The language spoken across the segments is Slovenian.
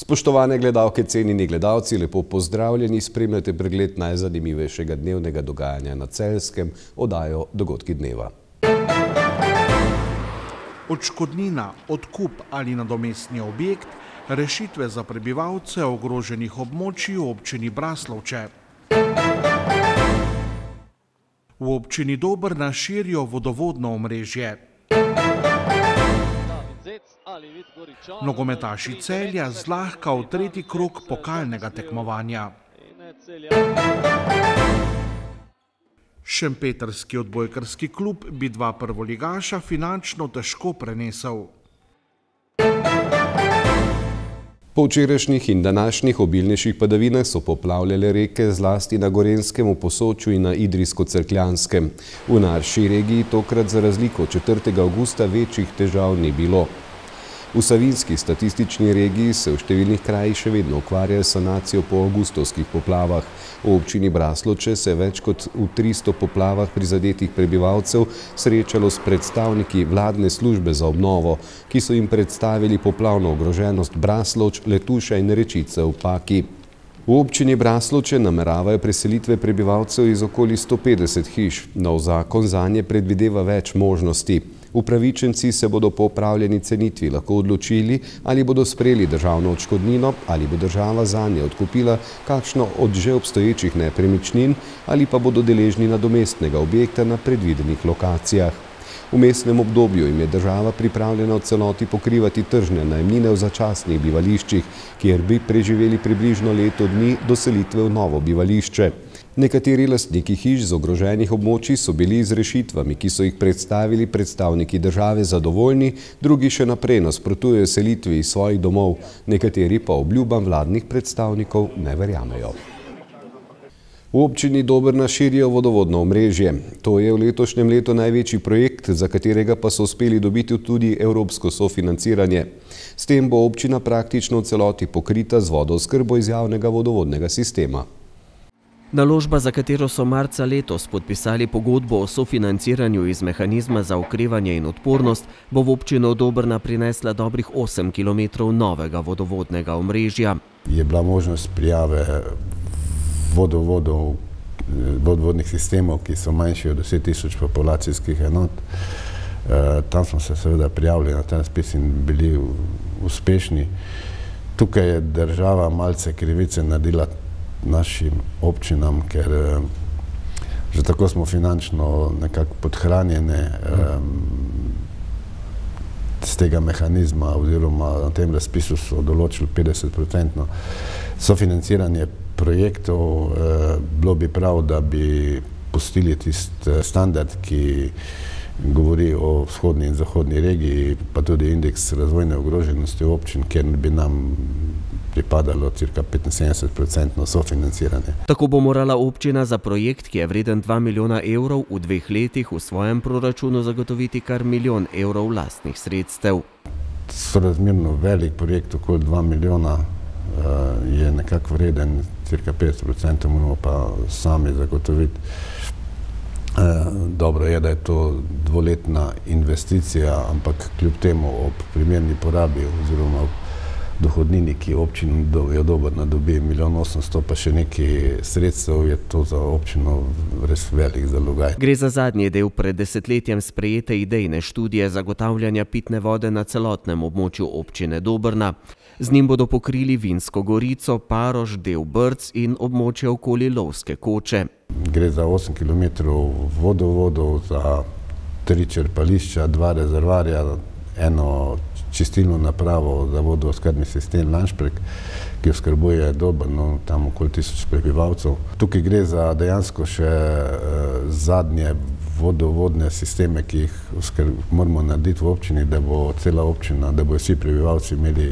Spoštovane gledalke, cenjeni gledalci, lepo pozdravljeni, spremljate pregled najzanimivejšega dnevnega dogajanja na Celjskem, oddajo Dogodki dneva. Odškodnina, odkup ali nadomestni objekt, rešitve za prebivalce ogroženih območij v občini Braslovče. V občini Dobrna širijo vodovodno omrežje. Nogometaši Celja zlahka v tretji krog pokalnega tekmovanja. Šempetrski odbojkarski klub bi dva prvoligaša finančno težko prenesel. Po včerajšnjih in današnjih obilnejših padavinah so poplavljale reke zlasti na Gorenjskem, v Posočju in na Idrijsko-Cerkljanskem. V naši regiji tokrat za razliko od 4. avgusta večjih težav ni bilo. V Savinjski statistični regiji se v številnih krajih še vedno ukvarjajo s sanacijo po avgustovskih poplavah. V občini Braslovče se je več kot v 300 poplavah prizadetih prebivalcev srečalo s predstavniki vladne službe za obnovo, ki so jim predstavili poplavno ogroženost Braslovč, Letuša in Rečice v Paki. V občini Braslovče nameravajo preselitve prebivalcev iz okoli 150 hiš. Nov zakon zanje predvideva več možnosti. Upravičenci se bodo po opravljeni cenitvi lahko odločili, ali bodo sprejeli državno odškodnino, ali bo država zanje odkupila kakšno od že obstoječih nepremičnin, ali pa bodo deležni nadomestnega objekta na predvidenih lokacijah. V vmesnem obdobju jim je država pripravljena v celoti pokrivati tržne najemnine v začasnih bivališčih, kjer bi preživeli približno leto dni do selitve v novo bivališče. Nekateri lastniki hiš z ogroženih območij so bili z rešitvami, ki so jih predstavili predstavniki države, zadovoljni, drugi še naprej nasprotujejo selitvi iz svojih domov, nekateri pa obljubam vladnih predstavnikov ne verjamejo. V občini Dobrna širijo vodovodno omrežje. To je v letošnjem letu največji projekt, za katerega pa so uspeli dobiti tudi evropsko sofinanciranje. S tem bo občina praktično v celoti pokrita z vodooskrbo iz javnega vodovodnega sistema. Naložba, za katero so marca letos podpisali pogodbo o sofinanciranju iz mehanizma za okrevanje in odpornost, bo v občino Dobrna prinesla dobrih 8 km novega vodovodnega omrežja. Je bila možnost prijave vodovodnih sistemov, ki so manjši od 10 000 populacijskih enot. Tam smo se seveda prijavili na ta razpis in bili uspešni. Tukaj je država malce krivice naredila našim občinam, ker že tako smo finančno nekako podhranjene z tega mehanizma, oziroma na tem razpisu so določili 50% sofinanciranje projektov. Bilo bi prav, da bi pustili tisti standard, ki govori o vzhodni in zahodni regiji, pa tudi indeks razvojne ogroženosti občin, kjer bi nam pripadalo cirka 75% sofinanciranje. Tako bo morala občina za projekt, ki je vreden 2 milijona evrov, v 2 letih v svojem proračunu zagotoviti kar 1 milijon evrov lastnih sredstev. Sorazmerno velik projekt, okoli 2 milijona, je nekako vreden, cirka 50% moramo pa sami zagotoviti. Dobro je, da je to dvoletna investicija, ampak kljub temu ob primerni porabi oziroma ob dohodnini, ki občina Dobrna dobi 1 milijon 800, pa še nekaj sredstev, je to za občino res velik zalogaj. Gre za zadnji del pred desetletjem sprejete idejne študije zagotavljanja pitne vode na celotnem območju občine Dobrna. Z njim bodo pokrili Vinsko Gorico, Parož, del Brc in območje okoli Lovske Koče. Gre za 8 km vodovodov, za 3 črpališča, 2 rezervarja, eno čistilno napravo za vodooskrbni sistem Lanšprek, ki oskrbuje Dobrno, tam okoli 1000 prebivalcev. Tukaj gre za dejansko še zadnje vodovodne sisteme, ki jih moramo narediti v občini, da bo cela občina, da bo vsi prebivalci imeli,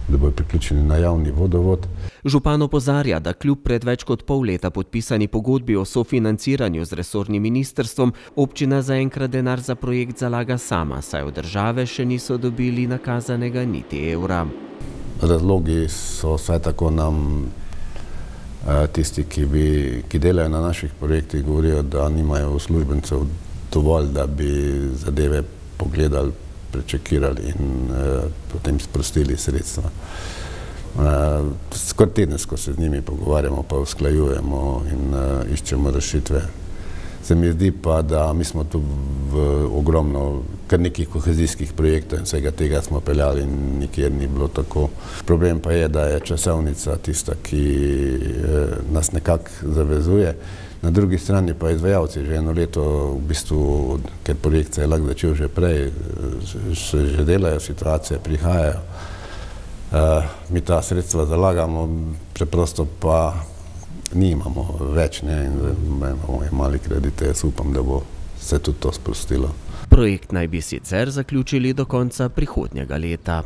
da bodo priključeni na javni vodovod. Župan opozarja, da kljub pred več kot pol leta podpisani pogodbi o sofinanciranju z resornim ministrstvom, občina zaenkrat denar za projekt zalaga sama, saj od države še niso dobili nakazanega niti evra. Razlogi so vsaj tako nam tisti, ki delajo na naših projektih, govorijo, da nimajo uslužbencev dovolj, da bi zadeve pogledali, prečekirali in potem sprostili sredstva. Skoraj tedensko se z njimi pogovarjamo, pa usklajujemo in iščemo rešitve. Se mi zdi pa, da mi smo tu v ogromno, kar nekih kohezijskih projektov in vsega tega smo peljali in nikjer ni bilo tako. Problem pa je, da je časovnica tista, ki nas nekako zavezuje. Na drugi strani pa izvajalci že eno leto, v bistvu, ker projekt se je lahko začel že prej, se že delajo, situacije prihajajo. Mi ta sredstva zalagamo, preprosto pa nimamo več, in imamo mali kredite. Jaz upam, da bo se tudi to sprostilo. Projekt naj bi sicer zaključili do konca prihodnjega leta.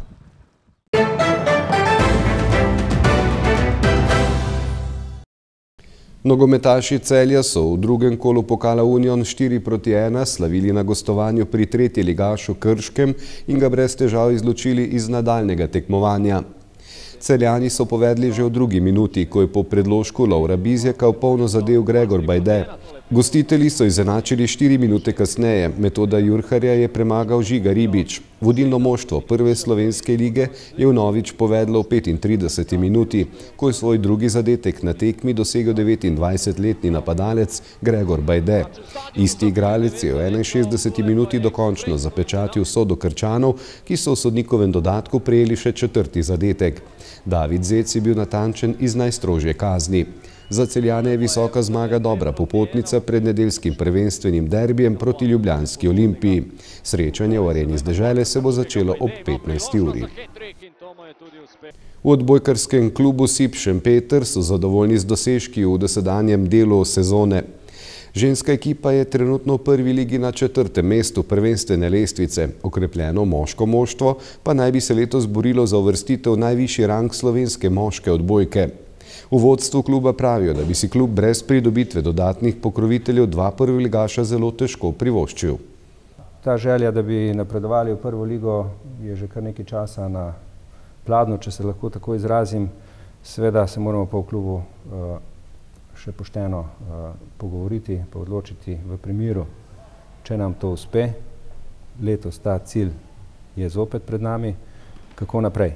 Nogometaši Celja so v drugem kolu pokala Union 4:1 slavili na gostovanju pri tretjeligašu Krškem in ga brez težav izločili iz nadaljnega tekmovanja. Celjani so povedli že v drugi minuti, ko je po predložku Lovra Bizjaka v polno zadel Gregor Bajde. Gostitelji so izenačili 4 minute kasneje, Metoda Jurharja je premagal Žiga Ribič. Vodilno moštvo prve slovenske lige je vnovič povedlo v 35. minuti, ko je svoj drugi zadetek na tekmi dosegel 29-letni napadalec Gregor Bajde. Isti igralec je v 61. minuti dokončno zapečatil sodo Krčanov, ki so v sodnikovem dodatku prejeli še četrti zadetek. David Zec je bil natančen iz najstrožje kazni. Za Celjane je visoka zmaga dobra popotnica pred nedeljskim prvenstvenim derbijem proti ljubljanski Olimpiji. Srečanje v Areni z dežele se bo začelo ob 15. uri. V odbojkarskem klubu SIP Šempeter so zadovoljni z dosežki v dosedanjem delu sezone. Ženska ekipa je trenutno v prvi ligi na 4. mestu prvenstvene lestvice. Okrepljeno moško moštvo pa naj bi se letos borilo za uvrstitev v najvišji rang slovenske moške odbojke. V vodstvu kluba pravijo, da bi si klub brez pridobitve dodatnih pokroviteljev 2 prvoligaša zelo težko privoščil. Ta želja, da bi napredovali v prvo ligo, je že kar nekaj časa na pladnju, če se lahko tako izrazim. Seveda se moramo pa v klubu še pošteno pogovoriti, pa odločiti v primeru, če nam to uspe. Letos ta cilj je zopet pred nami. Kako naprej?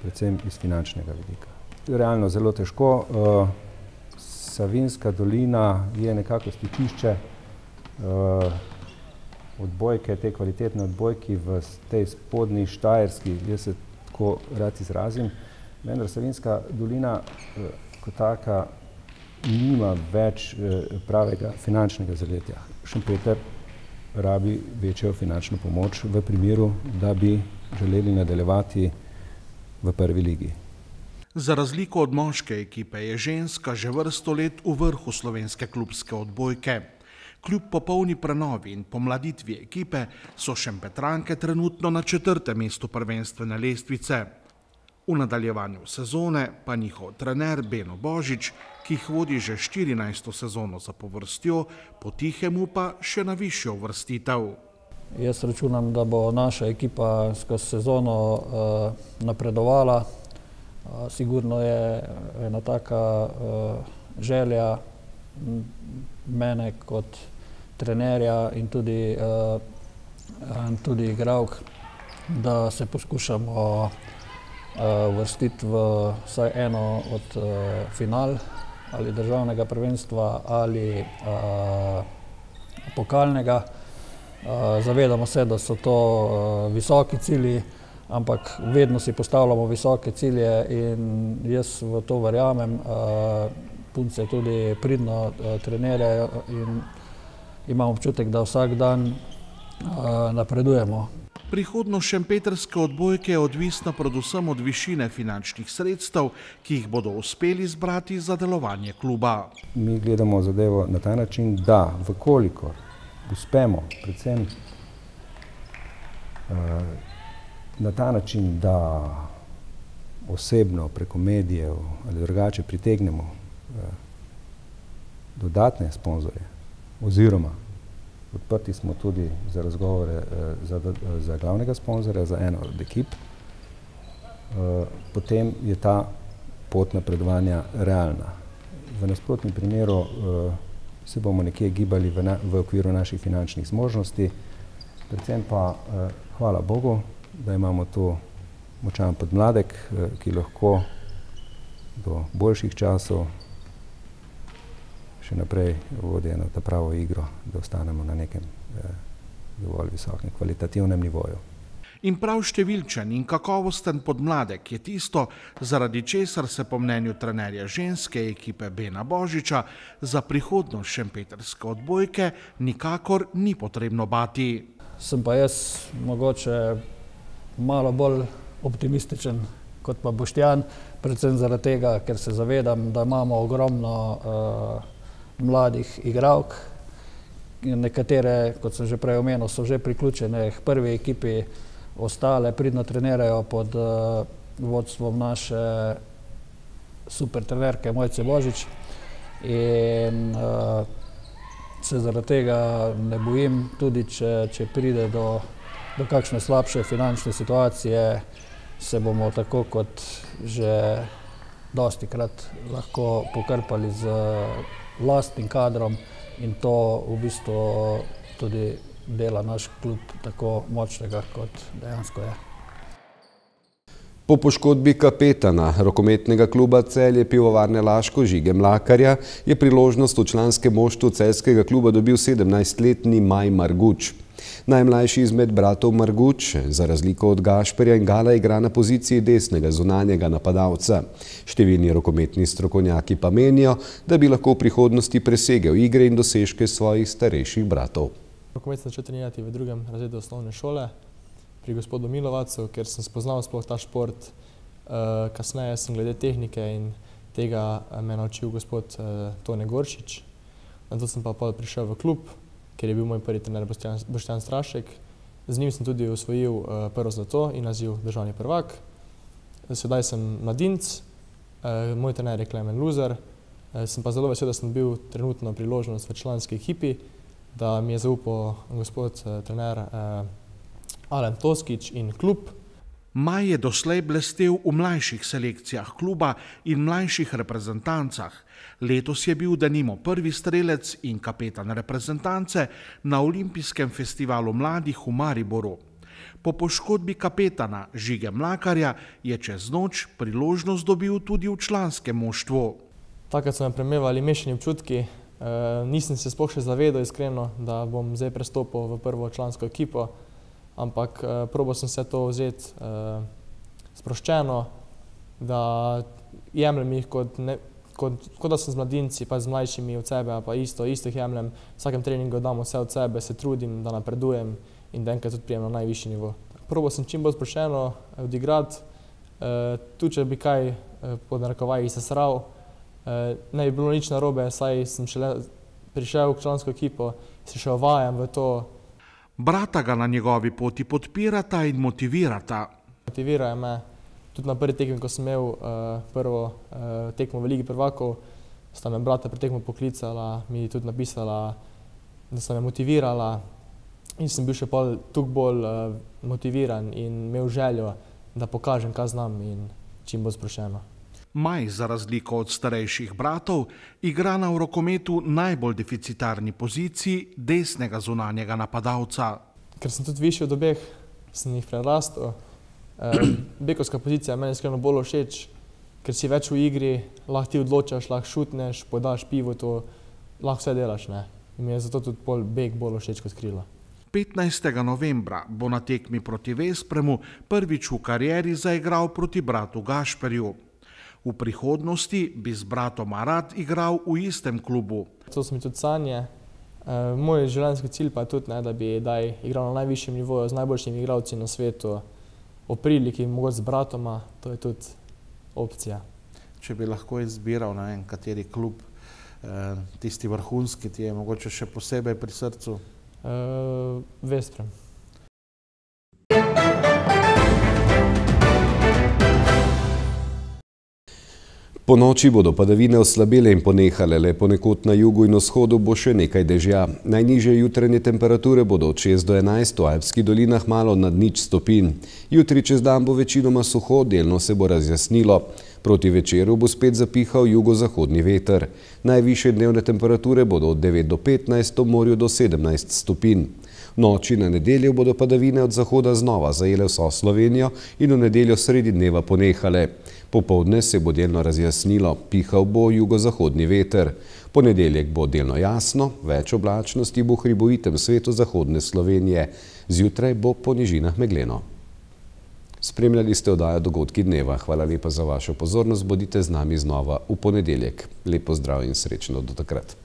Predvsem iz finančnega vidika. Realno zelo težko. Savinjska dolina je nekako stičišče odbojke, te kvalitetne odbojki v tej spodnji Štajerski, jaz se tako rad izrazim. Vendar Savinjska dolina kot taka nima več pravega finančnega zaletja. Šempeter rabi večjo finančno pomoč v primeru, da bi želeli nadaljevati v prvi ligi. Za razliko od moške ekipe je ženska že vrsto let v vrhu slovenske klubske odbojke. Kljub popolni prenovi in pomladitvi ekipe so Šempetranke trenutno na 4. mestu prvenstvene lestvice. V nadaljevanju sezone pa njihov trener Beno Božič, ki jih vodi že 14. sezono zapovrstjo, potihemu pa še na višjo uvrstitev. Jaz računam, da bo naša ekipa skozi sezono napredovala. Sigurno je ena taka želja mene kot trenerja in tudi igralk, da se poskušamo uvrstiti v vsaj eno od final ali državnega prvenstva ali pokalnega. Zavedamo se, da so to visoki cilji, ampak vedno si postavljamo visoke cilje in jaz v to verjamem. Punce tudi pridno trenirajo in imam občutek, da vsak dan napredujemo. Prihodnost šempetrske odbojke je odvisna predvsem od višine finančnih sredstev, ki jih bodo uspeli zbrati za delovanje kluba. Mi gledamo zadevo na ta način, da vkolikor uspemo predvsem na ta način, da osebno preko medijev ali drugače pritegnemo dodatne sponzorje oziroma odprti smo tudi za razgovore za glavnega sponzorja, za eno od ekip, potem je ta pot napredovanja realna. V nasprotnem primeru se bomo nekje gibali v okviru naših finančnih zmožnosti, predvsem pa hvala Bogu, da imamo to močan podmladek, ki lahko do boljših časov še naprej vodi eno ta pravo igro, da ostanemo na nekem dovolj visokem kvalitativnem nivoju. In prav številčen in kakovosten podmladek je tisto, zaradi česar se po mnenju trenerja ženske ekipe Bena Božiča za prihodnost šempetrske odbojke nikakor ni potrebno bati. Sem pa jaz mogoče malo bolj optimističen kot pa Boštjan, predvsem zaradi tega, ker se zavedam, da imamo ogromno mladih igralk. Nekatere, kot sem že prej omenil, so že priključene k prvi ekipi, ostale pridno trenirajo pod vodstvom naše super trenerke Mojce Božič in se zaradi tega ne bojim, tudi če pride do kakšne slabše finančne situacije, se bomo tako kot že dostikrat lahko pokrpali z lastnim kadrom in to v bistvu tudi dela naš klub tako močnega, kot dejansko je. Po poškodbi kapetana rokometnega kluba Celje Pivovarne Laško Žige Mlakarja je priložnost v članskem moštvu celjskega kluba dobil 17-letni Maj Marguč. Najmlajši izmed bratov Marguč, za razliko od Gašperja in Gala, igra na poziciji desnega zunanjega napadalca. Številni rokometni strokovnjaki pa menijo, da bi lahko v prihodnosti presegel igre in dosežke svojih starejših bratov. Rokomet sem začel trenirati v 2. razredu osnovne šole pri gospodu Milovacu, ker sem spoznal sploh ta šport. Kasneje sem glede tehnike in tega me naučil gospod Tone Goršič. Nato sem pa prišel v klub, ker je bil moj prvi trener Boštjan Strašek. Z njim sem tudi osvojil prvo zlato in naziv državni prvak. Sedaj sem mladinec, moj trener je Klemen Luzar. Sem pa zelo vesel, da sem bil trenutno priložnost v članski ekipi, da mi je zaupal gospod trener Alen Toskič in klub. Maj je doslej blestel v mlajših selekcijah kluba in mlajših reprezentancah. Letos je bil denimo prvi strelec in kapetan reprezentance na olimpijskem festivalu mladih v Mariboru. Po poškodbi kapetana Žige Mlakarja je čez noč priložnost dobil tudi v članskem moštvu. Takrat so me premevali mešani občutki. Nisem se sploh še zavedal iskreno, da bom zdaj prestopil v prvo člansko ekipo, ampak probal sem se to vzeti sproščeno, da jemljem jih kot da sem z mladinci, pa z mlajšimi od sebe, pa isto jih jemljem. V vsakem treningu dam vse od sebe, se trudim, da napredujem in da enkrat tudi prijem na najvišji nivo. Probal sem čim bolj sproščeno odigrati, tudi če bi kaj pod narekovajih sesral, ne bi bilo nič narobe, saj sem šele prišel v člansko ekipo, se še uvajam v to. Brata ga na njegovi poti podpirata in motivirata. Motivirajo me. Tudi na prvi tekmi, ko sem imel prvo tekmo v Ligi prvakov, sta me brata pri tekmo poklicala, mi tudi napisala, da sta me motivirala in sem bil še toliko bolj motiviran in imel željo, da pokažem, kaj znam in čim bolj sproščeno. Maj, za razliko od starejših bratov, igra na v rokometu najbolj deficitarni poziciji desnega zunanjega napadalca. Ker sem tudi višji od obeh, sem jih prerastel. Bekovska pozicija je meni iskreno bolj všeč, ker si več v igri, lahko ti odločaš, lahko šutneš, podaš pivotu, lahko vse delaš. In mi je zato tudi bek bolj všeč kot krilo. 15. novembra bo na tekmi proti Vespremu prvič v karieri zaigral proti bratu Gašperju. V prihodnosti bi z bratom rad igral v istem klubu. To so mi tudi sanje. Moj življenjski cilj pa je tudi, da bi igral na najvišjem nivoju z najboljšimi igralci na svetu, o priliki mogoče z bratoma, to je tudi opcija. Če bi lahko izbiral, ne vem, kateri klub, tisti vrhunski, ti je mogoče še posebej pri srcu? Vesprem. Po noči bodo padavine oslabele in ponehale, le ponekod na jugu in vzhodu bo še nekaj dežja. Najnižje jutranje temperature bodo od 6 do 11, v Alpskih dolinah malo nad 0 stopinj. Jutri čez dan bo večinoma suho, delno se bo razjasnilo. Proti večeru bo spet zapihal jugozahodni veter. Najvišje dnevne temperature bodo od 9 do 15, ob morju do 17 stopinj. Noči na nedeljo bodo padavine od zahoda znova zajele vso Slovenijo in v nedeljo sredi dneva ponehale. Popoldne se bo delno razjasnilo, pihal bo jugozahodni veter. Ponedeljek bo delno jasno, več oblačnosti bo v hribovitem svetu zahodne Slovenije. Zjutraj bo po nižinah megleno. Spremljali ste oddajo Dogodki dneva. Hvala lepa za vašo pozornost. Bodite z nami znova v ponedeljek. Lep pozdrav in srečno do takrat.